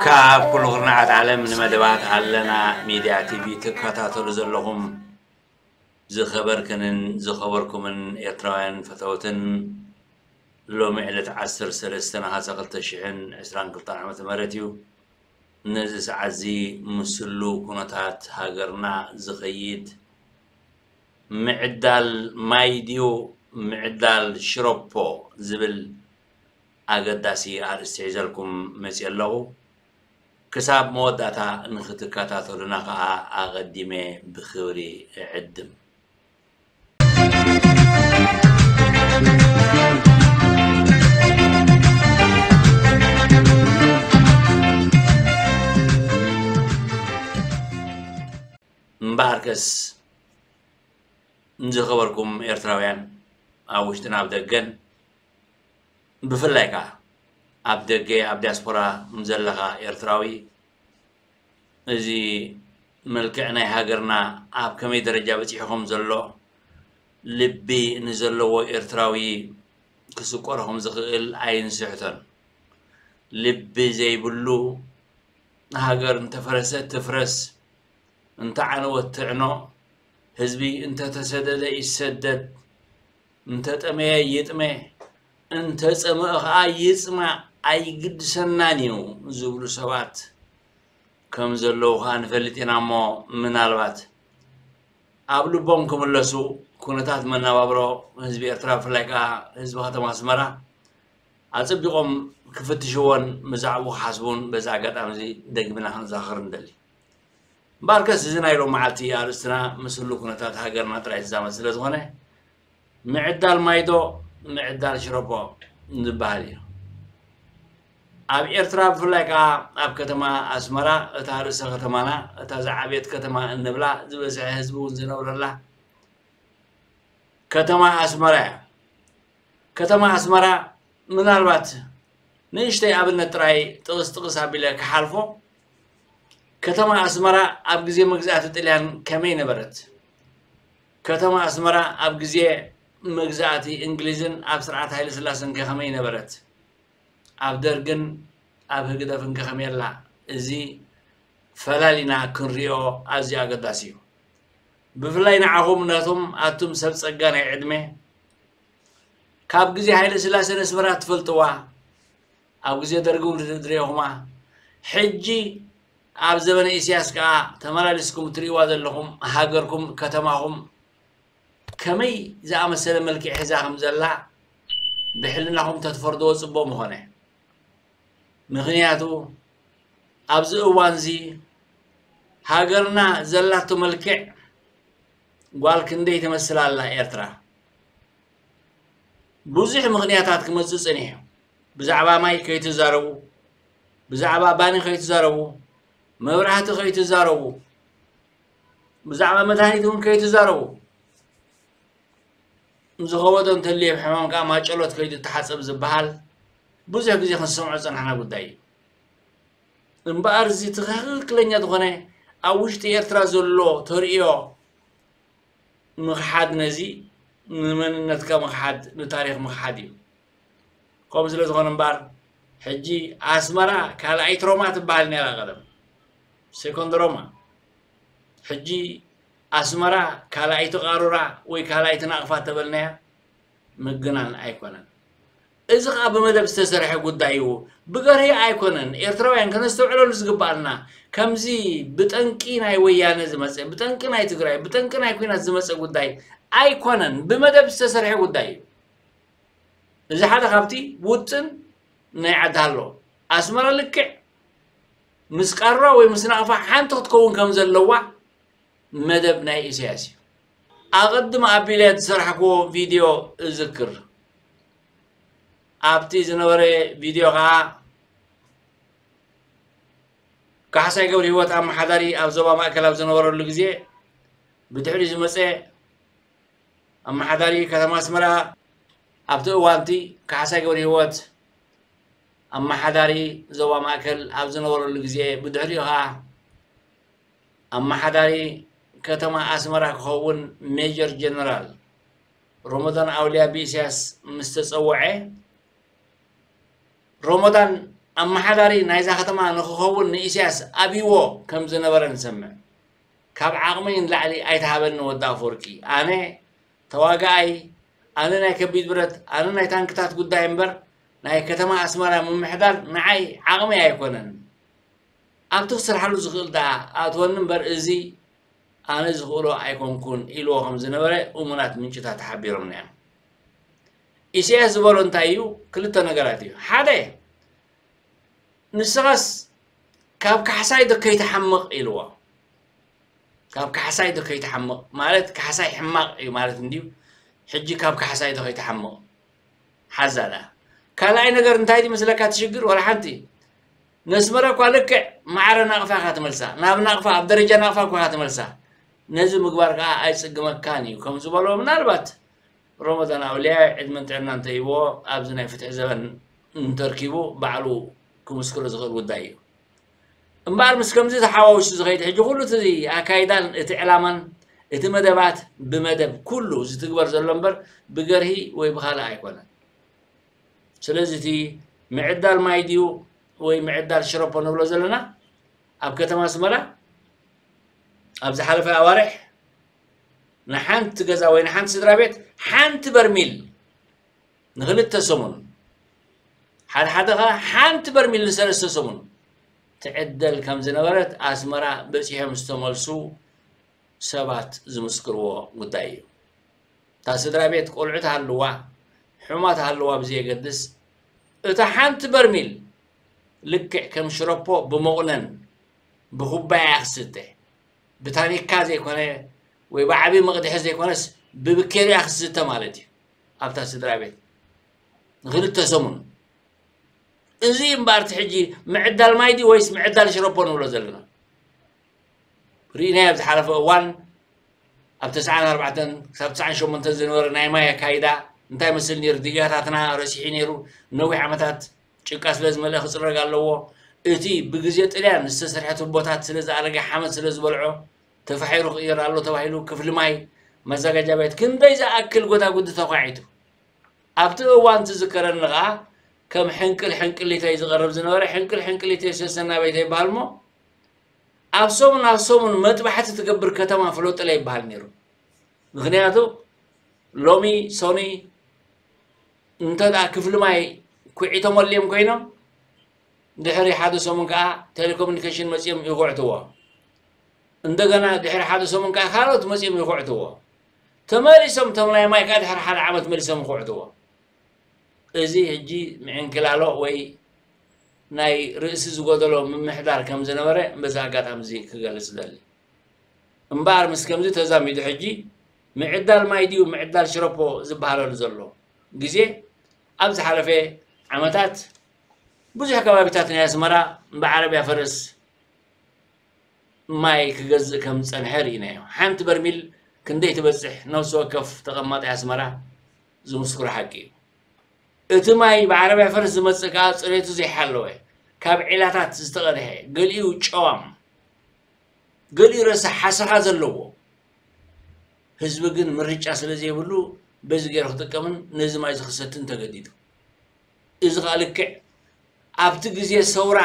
ካብ ኩሉ ኩርናዓት ዓለም ንመደባት ኣለና ሚድያ ቲቪ ትከታተሉ ዘለኹም ዝኸበርክንን ዝኸበርኩምን ኤርትራውያን ፈተውትን፣ ሎሚ ዕለት ዓሰርተ ሰለስተ ነሓሰ ክልተ ሽሕን ዕስራን ክልተን ዓመተ ምህረት እዩ። ነዚ ሰዓት እዚ ምስሉ ኩነታት ሃገርና ዝኸይድ ምዕዳል ማይ ድዩ ምዕዳል ሽሮፖ ዝብል ኣገዳሲ ኣርእስቲ ሒዘልኩም መፅየ ኣለኹ። ክሳብ መወዳእታ ንክትከታተሉና ከዓ ኣቐዲመ ብክብሪ እዕድም። እምበኣርከስ ንዝኸበርኩም ኤርትራውያን ኣብ ውሽጥን ኣብ ደገን፣ ብፍላይ ከኣ ኣብ ደገ ኣብ ዲያስፖራ ዘለኻ ኤርትራዊ፣ እዚ መልክዕ ናይ ሃገርና ኣብ ከመይ ደረጃ በጺሑ ከም ዘሎ ልቢ ንዘለዎ ኤርትራዊ ክስቆሮ ከም ዝኽእል ኣይንስሕቶን። ልቢ ዘይብሉ፣ ሃገር እንተፈረሰት ትፍረስ፣ እንተዓነወት ትዕኖ፣ ህዝቢ እንተተሰደደ ይሰደድ፣ እንተጠመየ ይጥመ፣ እንተጸምአ ኸኣ ይጽማእ፣ ኣይግድሰናን እዩ ዝብሉ ሰባት ከም ዘለዉ ኸኣ ንፈልጥ ኢና እሞ፣ ምናልባት ኣብ ልቦም ክምለሱ፣ ኩነታት መነባብሮ ህዝቢ ኤርትራ፣ ብፍላይ ከኣ ህዝቢ ከተማ ኣስመራ ኣጸቢቖም ክፍትሽዎን ብዛዕባኡ ክሓስቡን በዚ ኣጋጣሚ እዚ ደጊምና ክንዘኻኽር ንደሊ። እምበኣርከስ እዚ ናይ ሎም መዓልቲ ኣርእስትና ምስ ህሉ ኩነታት ሃገርና ጥራይ ዝዛመድ ስለ ዝኾነ፣ ምዕዳል ማይዶ ምዕዳል ሽረፖ ዝበሃል እዩ። ኣብ ኤርትራ ብፍላይ ከኣ ኣብ ከተማ ኣስመራ፣ እታ ርእሰ ከተማና፣ እታ ዝዓበየት ከተማ እንብላ፣ ዝበዝሐ ህዝቢ እውን ዝነብረላ ከተማ ኣስመራ እያ። ከተማ ኣስመራ ምናልባት ንእሽተይ ኣብነት ጥራይ ጥቕስ ጥቕስ ኣቢለ ክሓልፎ። ከተማ ኣስመራ ኣብ ግዜ መግዛእቲ ጥልያን ከመይ ነበረት? ከተማ ኣስመራ ኣብ ግዜ መግዛእቲ እንግሊዝን ኣብ ስርዓት ሃይለ ስላሰን ከ ከመይ ነበረት? ኣብ ደርግን ኣብ ህግደፍን ከ ከመይ ኣላ? እዚ ፈላሊና ክንሪኦ ኣዝዩ ኣገዳሲ እዩ። ብፍላይ ንዓኹም ነቶም ኣቱም ሰብ ጸጋ ናይ ዕድመ፣ ካብ ግዜ ሃይለ ስላሰ ነስመራ ትፈልጥዋ፣ ኣብ ግዜ ደርጊ እውን ርኢኹማ። ሕጂ ኣብ ዘበነ ኢሳያስ ከኣ ተመላሊስኩም እትርእይዋ ዘለኹም ሃገርኩም፣ ከተማኹም ከመይ ዝኣመሰለ መልክዕ ሒዛ ከም ዘላ ብሕልናኹም ተትፈርድዎ ጽቡቕ ምኾነ። ምኽንያቱ ኣብዚ እዋንዚ ሃገርና ዘላቶ መልክዕ ጓል ክንደይ ትመስል ኣላ ኤርትራ። ብዙሕ ምኽንያታት ክመጽእ ጸኒሑ። ብዛዕባ ማይ ከይትዛረቡ፣ ብዛዕባ ባኒ ከይትዛረቡ፣ መብራህቲ ከይትዛረቡ፣ ብዛዕባ መድሃኒት እውን ከይትዛረቡ፣ ዝኸበዶ እንተልዩ ሕማም ከኣ ማጨሎት ከይዱ ተሓጸብ ዝበሃል ብዙሕ ግዜ ክንሰምዖ ዝጸናሕና ጉዳይ እዩ። እምበኣር እዚ ትኽክለኛ ዝኾነ ኣብ ውሽጢ ኤርትራ ዘሎ ተርእዮ ምኽሓድ ነዚ ንመንነትካ ምኽሓድ ንታሪኽ ምኽሓድ እዩ። ከምኡ ስለ ዝኾነ እምበኣር ሕጂ ኣስመራ ካልኣይቲ ሮማ ትበሃል ነይራ ቀደም፣ ሴኮንድ ሮማ። ሕጂ ኣስመራ ካልኣይቲ ቃሩራ ወይ ካልኣይቲ ናቕፋ ተበልናያ ምግናን ኣይኮነን። እዚ ኸኣ ብመደብ ዝተሰርሐ ጉዳይ እዩ። ብገርሂ ኣይኮነን። ኤርትራውያን ከነስተውዕለሉ ዝግባኣና፣ ከምዚ ብጠንቂ ናይ ወያነ ዝመጸ፣ ብጠንቂ ናይ ትግራይ፣ ብጠንቂ ናይ ኲናት ዝመጸ ጉዳይ ኣይኮነን። ብመደብ ዝተሰርሐ ጉዳይ እዩ። እዚ ሓደ ካብቲ ውጥን ናይ ዓዲ ሃሎ፣ ኣስመራ ልክዕ ምስ ቃሩራ ወይ ምስ ናቕፋ ሓንቲ ክትከውን ከም ዘለዋ መደብ ናይ ኢሳያስ እዩ። ኣቐድም ኣቢለ ዝሰራሕክዎ ቪድዮ እዝክር። ኣብቲ ዝነበረ ቪድዮ ኸዓ ካሕሳይ ገብረ ህይወት ኣመሓዳሪ ኣብ ዞባ ማእከል ኣብ ዝነበረሉ ግዜ ብድሕሪ ዝመጸ ኣመሓዳሪ ከተማ ኣስመራ ኣብቲ እዋንቲ ካሕሳይ ገብረ ህይወት ኣመሓዳሪ ዞባ ማእከል ኣብ ዝነበረሉ ግዜ ብድሕሪኡ ኸዓ ኣመሓዳሪ ከተማ ኣስመራ ክኸውን ሜጀር ጀነራል ሮሞዳን ኣውልያ ብኢሳያስ ምስ ተጸውዐ፣ ሮሞዳን ኣመሓዳሪ ናይዛ ከተማ ንክኸውን ንኢሳያስ ኣብይዎ ከም ዝነበረ ንሰምዕ። ካብ ዓቕመይ ንላዕሊ ኣይትሃበኒ ወዲ ኣፈወርቂ። ኣነ ተዋጋኣይ፣ ኣነ ናይ ከቢድ ብረት፣ ኣነ ናይ ታንክታት ጉዳይ እምበር ናይ ከተማ ኣስመራ ምምሕዳር ንዓይ ዓቕመይ ኣይኮነን። ኣብቲ ክሰርሓሉ ዝኽእል ደኣ ኣእትወኒ እምበር እዚ ኣነ ዝኽእሎ ኣይኮንኩን ኢልዎ ከም ዝነበረ እሙናት ምንጭታት ሓቢሮምና እዮም። ኢሳያስ ዝበሎ እንታይ እዩ? ክልተ ነገራት እዩ። ሓደ፣ ንስኻስ ካብ ካሕሳይ ዶ ከይትሓምቕ ኢልዎ። ካብ ካሕሳይ ዶ ከይትሓምቕ ማለት ካሕሳይ ሕማቕ እዩ ማለት እንድዩ። ሕጂ ካብ ካሕሳይ ዶ ከይትሓምቕ ሓዛ ደኣ። ካልኣይ ነገር እንታይ ድዩ መስለካ እቲ ሽግር? ዋላ ሓንቲ። ነስመረ እኳ ልክዕ ማዕረ ናቕፋ ኢኻ ትመልሳ። ናብ ናቕፋ፣ ኣብ ደረጃ ናቕፋ እኳ ኢኻ ትመልሳ። ነዚ ምግባር ከኣ ኣይጽግመካን እዩ ከም ዝበሎ ምናልባት ሮሞዳን ኣውልያ ዕድመን ጥዕናን እንተሂብዎ ኣብዚ ናይ ፍትሒ ዘበን እንተርኪቡ ባዕሉ ክምስክሮ ዝኽእል ጉዳይ እዩ። እምበኣር ምስ ከምዚ ተሓዋዊሱ ዝኸይድ ሕጂ ኩሉ እቲ ኣካይዳን እቲ ዕላማን እቲ መደባት ብመደብ ኩሉ ዝትግበር ዘሎ እምበር ብገርሂ ወይ ብኻልእ ኣይኮነን። ስለዚ እቲ ምዕዳል ማይ ድዩ ወይ ምዕዳል ሽረፖ ንብሎ ዘለና ኣብ ከተማ ኣስመራ ኣብ ዝሓለፈ ኣዋርሕ ንሓንቲ ገዛ ወይ ንሓንቲ ስድራ ቤት ሓንቲ በርሚል ንክልተ ሰሙን፣ ሓደ ሓደ ኸዓ ሓንቲ በርሚል ንሰለስተ ሰሙን ትዕደል ከም ዝነበረት ኣስመራ በጺሖም ዝተመልሱ ሰባት ዝምስክርዎ ጉዳይ እዩ። እታ ስድራ ቤት ቆልዑ ትሃልዋ፣ ሕሙማት ትሃልዋ ብዘየገድስ፣ እታ ሓንቲ በርሚል ልክዕ ከም ሽረፖ ብመቑነን ብኩባያ ክስተ፣ ብታኒካ ዘይኮነ ወይ ብዓቢ መቕድሒ ዘይኮነስ ብብኬርያ ክስተ ማለት እዩ። ኣብታ ስድራ ቤት ንክልተ ሰሙን። እዚ እምበኣር እቲ ሕጂ ምዕዳል ማይ ድዩ ወይስ ምዕዳል ሽረፖ ንብሎ ዘለና? ርኢናዮ ኣብ ዝሓለፈ እዋን ኣብ ተስዓን ኣርባዕተን ክሳብ ተስዓን ሸሞንተን ዝነበረ ናይ ማይ ኣካይዳ እንታይ መስል ነይሩ? ዲጋታትና ረሲሑ ነይሩ። ነዊሕ ዓመታት ጭቃ ስለ ዝመልአ ክጽረግ ኣለዎ። እቲ ብግዜ ጥልያን ዝተሰርሐ ቱቦታት ስለ ዝኣረገ ሓመድ ስለ ዝበልዖ ተፋሒሩ ክቕየር ኣሎ ተባሂሉ ክፍሊ ማይ መዘጋጃ ቤት ክንደይ ዝኣክል ጎዳጉዲ ተኳዒቱ። ኣብቲ እዋን ትዝከረኒ ኸዓ ከም ሕንቅል ሕንቅሊተይ ዝቐርብ ዝነበረ ሕንቅል ሕንቅሊተይ ሰሰና ቤተይ ይበሃል እሞ ኣብ ሰሙን ኣብ ሰሙን መጥባሕቲ ትገብር ከተማ ፍለጦለይ ይበሃል ነይሩ። ምኽንያቱ ሎሚ ሶኒ እንተ ደኣ ክፍሊ ማይ ኩዒቶም ወልዮም ኮይኖም ድሕሪ ሓደ ሰሙን ከኣ ቴሌኮሙኒኬሽን መጺኦም ይኹዕትዎ። እንደገና ድሕሪ ሓደ ሰሙን ከኣ ካልኦት መጺኦም ይኹዕትዎ። ተመሊሶም እቶም ናይ ማይ ከኣ ድሕሪ ሓደ ዓመት መሊሶም ይኹዕትዎ። እዚ ሕጂ ምዕንክላሎ ወይ ናይ ርእሲ ዝጎደሎ ምምሕዳር ከም ዝነበረ በዚ ኣጋጣሚ እዚ ክገልጽ እደሊ። እምበኣር ምስ ከምዚ ተዛሚዱ ሕጂ ምዕዳል ማይ ድዩ ምዕዳል ሽረፖ ዝበሃለሉ ዘሎ ግዜ ኣብ ዝሓለፈ ዓመታት ብዙሕ ከባቢታት ናይ ኣስመራ ብዓረብያ ፈረስ ማይ ክገዝእ ከም ዝጸንሐ ርኢናዮ። ሓንቲ በርሚል ክንደይ ትበጽሕ ነፍሲ ወከፍ ተቐማጣይ ኣስመራ ዝምስክሮ ሓቂ እዩ። እቲ ማይ ብዓረብያ ፈረስ ዝመጽእ ከኣ ጽሬቱ ዘይሓለወ፣ ካብ ዒላታት ዝተቐድሐ፣ ገሊኡ ጨዋም፣ ገሊኡ ረሳሕ ሓሰኻ ዘለዎ። ህዝቢ ግን ምርጫ ስለ ዘይብሉ በዚ ገይሩ ክጥቀምን ነዚ ማይ እዚ ክሰትን ተገዲዱ። እዚ ከኣ ልክዕ ኣብቲ ግዜ ሰውራ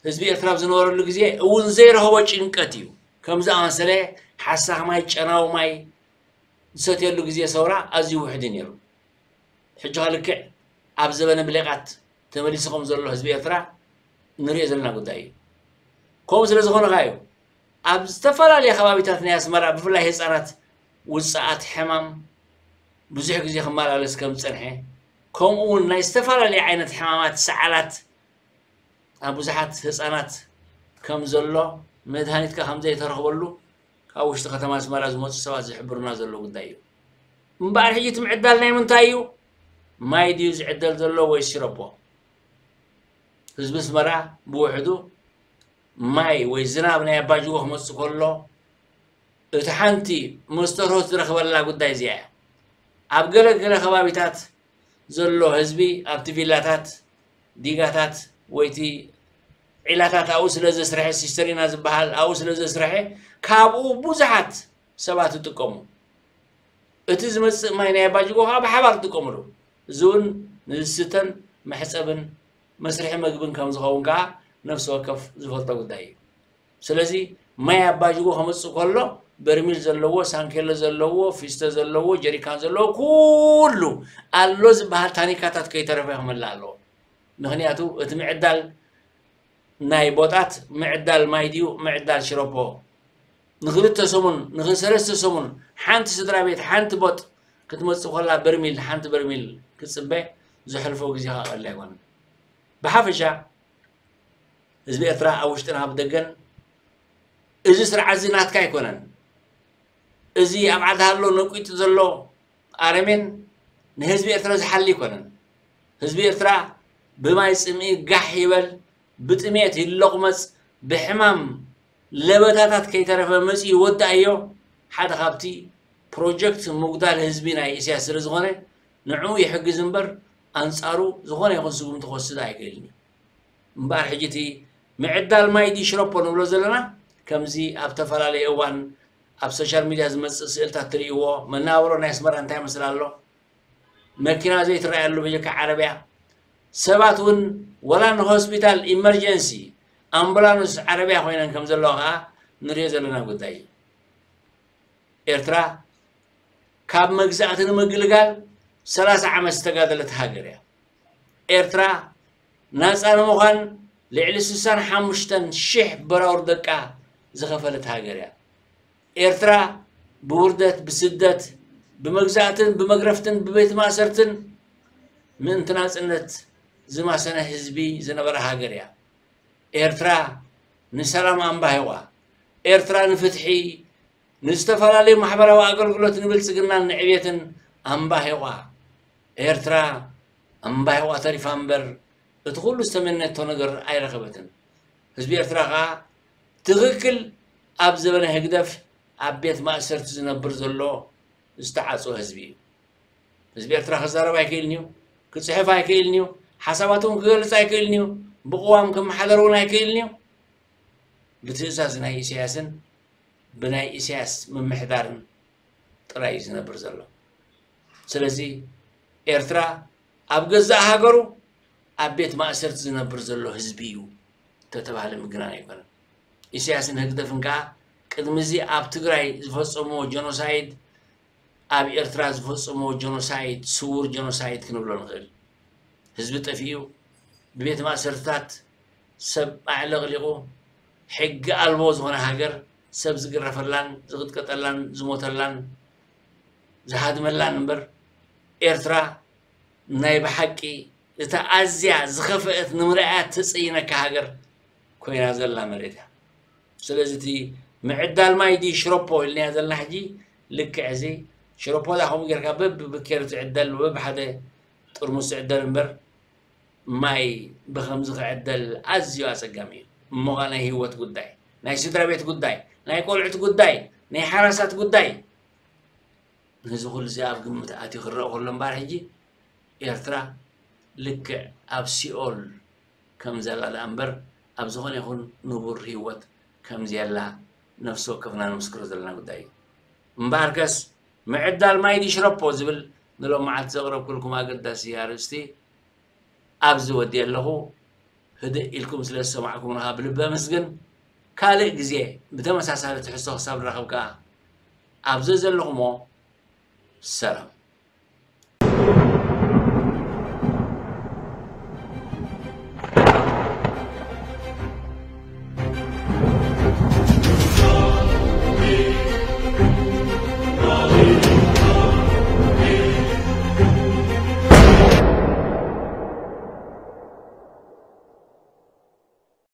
ህዝቢ ኤርትራ ኣብ ዝነበረሉ ግዜ እውን ዘይረኸቦ ጭንቀት እዩ። ከም ዝኣመሰለ ሓሳኽ ማይ፣ ጨናዊ ማይ ዝሰትየሉ ግዜ ሰውራ ኣዝዩ ውሑድ እዩ ነይሩ። ሕጂ ከ ልክዕ ኣብ ዘበነ ብሌቓት ተመሊሱ ከም ዘሎ ህዝቢ ኤርትራ ንሪኦ ዘለና ጉዳይ እዩ። ከምኡ ስለ ዝኾነ ከኣ እዩ ኣብ ዝተፈላለየ ከባቢታት ናይ ኣስመራ ብፍላይ ህጻናት ውጽኣት ሕማም ብዙሕ ግዜ ክመላለስ ከም ዝጸንሐ፣ ከምኡ እውን ናይ ዝተፈላለየ ዓይነት ሕማማት ሰዓላት ኣብ ብዙሓት ህጻናት ከም ዘሎ፣ መድሃኒት ከኣ ከም ዘይተረኽበሉ ካብ ውሽጢ ከተማ ኣስመራ ዝመፁ ሰባት ዝሕብሩና ዘሎ ጉዳይ እዩ። እምበኣር ሕጂ እቲ ምዕዳል ናይ ምንታይ እዩ? ማይ ድዩ ዝዕደል ዘሎ ወይ ሽረቦ? ህዝቢ ኣስመራ ብውሕዱ ማይ ወይ ዝናብ ናይ ኣባጅጎ ክመፅእ ከሎ እቲ ሓንቲ መስተ ርሆት ዝረኽበላ ጉዳይ እዚኣ እያ። ኣብ ገለ ገለ ከባቢታት ዘሎ ህዝቢ ኣብቲ ቪላታት፣ ዲጋታት ወይቲ ዒላታት ኣብኡ ስለ ዘስርሐ፣ ሲስተሪና ዝበሃል ኣብኡ ስለ ዘስርሐ ካብኡ ብዙሓት ሰባት ይጥቀሙ። እቲ ዝመጽእ ማይ ናይ ኣባጅጎ ከዓ ብሓባር ይጥቀምሉ። እዚ እውን ንዝስተን መሕጸብን መስርሒ መግብን ከም ዝኸውን ከዓ ነፍሲ ወከፍ ዝፈልጦ ጉዳይ እዩ። ስለዚ ማይ ኣባጅጎ ከመፅእ ከሎ በርሚል ዘለዎ፣ ሳንኬሎ ዘለዎ፣ ፊስቶ ዘለዎ፣ ጀሪካን ዘለዎ ኩሉ ኣሎ ዝበሃል ታኒካታት ከይተረፈ ክመልእ ኣለዎ። ምክንያቱ እቲ ምዕዳል ናይ ቦጣት ምዕዳል ማይ ድዩ ምዕዳል ሽረፖ? ንክልተ ሰሙን ንክሰለስተ ሰሙን ሓንቲ ስድራ ቤት ሓንቲ ቦጥ ክትመፅእ ከላ በርሚል ሓንቲ በርሚል ክትፅበ ዘሕልፎ ግዜ ከዓ ቀሊል ኣይኮነን። ብሓፈሻ ህዝቢ ኤርትራ ኣብ ውሽጥን ኣብ ደገን እዚ ስርዓት እዚ ናትካ ኣይኮነን። እዚ ኣብ ዓዲ ሃሎ ነቂጡ ዘሎ ኣረሜን ንህዝቢ ኤርትራ ዝሓሊ ኣይኮነን። ህዝቢ ኤርትራ ብማይ ጽምኢ ጋሕ ይበል፣ ብጥሜት ይለቑመጽ፣ ብሕማም ለበታታት ከይተረፈ መጺኡ ይወድኣዮ። ሓደ ካብቲ ፕሮጀክት ምጉዳል ህዝቢ ናይ ኢሳያስ ስለ ዝኾነ ንዕኡ ይሕግዝ እምበር ኣንጻሩ ዝኾነ ይኹን ስጉምቲ ክወስድ ኣይክእልን እዩ። እምበኣር ሕጂ እቲ ምዕዳል ማይ ድዩ ሽረፖ ንብሎ ዘለና ከምዚ ኣብ ተፈላለየ እዋን ኣብ ሶሻል ሚድያ ዝመጽእ ስእልታት ትርእይዎ መናብሮ ናይ ኣስመራ እንታይ ይመስል ኣሎ? መኪና ዘይትረኣየሉ በጀካ ዓረብያ ሰባት እውን ወላ ንሆስፒታል ኢመርጀንሲ ኣምቡላንስ ዓረብያ ኮይነን ከም ዘለዋ ከዓ ንሪኦ ዘለና ጉዳይ እዩ። ኤርትራ ካብ መግዛእቲ ንምግልጋል ሰላሳ ዓመት ዝተጋደለት ሃገር እያ። ኤርትራ ናፃ ንምዃን ልዕሊ ስሳን ሓሙሽተን ሽሕ በራውር ደቃ ዝኸፈለት ሃገር እያ። ኤርትራ ብውርደት፣ ብስደት፣ ብመግዛእትን ብመግረፍትን ብቤት ማእሰርትን ምእንቲ ናፅነት ዝማሰነ ህዝቢ ዝነበረ ሃገር እያ። ኤርትራ ንሰላም ኣምባሂቋ። ኤርትራ ንፍትሒ፣ ንዝተፈላለዩ ማሕበራዊ ኣገልግሎት፣ ንብልጽግናን ንዕቤትን ኣምባሂቋ። ኤርትራ ኣምባሂቋ ተሪፋ እምበር እቲ ኩሉ ዝተመነቶ ነገር ኣይረኸበትን። ህዝቢ ኤርትራ ከኣ ትኽክል ኣብ ዘበነ ህግደፍ ኣብ ቤት ማእሰርቲ ዝነብር ዘሎ ዝተዓጽወ ህዝቢ እዩ። ህዝቢ ኤርትራ ክዛረብ ኣይክእልን እዩ፣ ክጽሕፍ ኣይክእልን እዩ፣ ሓሳባቱ እውን ክገልጽ ኣይክእልን እዩ፣ ብቅዋም ክመሓደር እውን ኣይክእልን እዩ። ብትእዛዝ ናይ ኢሳያስን ብናይ ኢሳያስ ምምሕዳርን ጥራይ እዩ ዝነብር ዘሎ። ስለዚ ኤርትራ ኣብ ገዛእ ሃገሩ ኣብ ቤት ማእሰርቲ ዝነብር ዘሎ ህዝቢ እዩ እንተተባህለ ምግናን ኣይኮነን። ኢሳያስን ህግደፍን ከኣ ቅድሚ እዚ ኣብ ትግራይ ዝፈጸምዎ ጀኖሳይድ ኣብ ኤርትራ ዝፈጸምዎ ጀኖሳይድ ስውር ጀኖሳይድ ክንብሎ ንኽእል። ህዝቢ ጠፊኡ ብቤት ማእሰርትታት ሰብ ኣዕለቕሊቑ ሕጊ ኣልቦ ዝኾነ ሃገር ሰብ ዝግረፈላን ዝቕጥቀጠላን ዝሞተላን ዝሃድመላን እምበር ኤርትራ ናይ ብሓቂ እታ ኣዝያ ዝኸፍአት ንምርኣያ ተጸይነካ ሃገር ኮይና ዘላ መሬት እያ። ስለዚ እቲ ምዕዳል ማይ ድዩ ሽሮፖ ኢልናዮ ዘለና ሕጂ ልክዕ እዚ ሽሮፖ ዳ ከምኡ ጌርካ በብብኬሪ ትዕደል በብሓደ ጥርሙስ ትዕደል እምበር ማይ ብኸምዚ ክዕደል ኣዝዩ ኣጸጋሚ እዩ። እሞ ኸኣ ናይ ህይወት ጉዳይ፣ ናይ ስድራ ቤት ጉዳይ፣ ናይ ቆልዑት ጉዳይ፣ ናይ ሓራሳት ጉዳይ ነዚ ኩሉ እዚ ኣብ ግምት ኣትዩ ክረኣ ከሎ እምበኣር ሕጂ ኤርትራ ልክዕ ኣብ ሲኦል ከም ዘላ ደኣ እምበር ኣብ ዝኾነ ይኹን ንቡር ህይወት ከም ዘየላ ነፍሲ ወከፍና ንምስክሮ ዘለና ጉዳይ እዩ። እምበኣርከስ ምዕዳል ማይ ድዩ ሽረፖ ዝብል ንሎም መዓልቲ ዘቕረብኩልኩም ኣገዳሲ ኣርእስቲ ኣብዚ ወዲኤ ኣለኹ። ህድእ ኢልኩም ስለ ዝሰማዕኩምና ብልቢ ኣመስግን። ካልእ ግዜ ብተመሳሳሊ ትሕዝቶ ክሳብ ንራኸብ ከኣ ኣብ ዘዘለኹሞ ሰላም።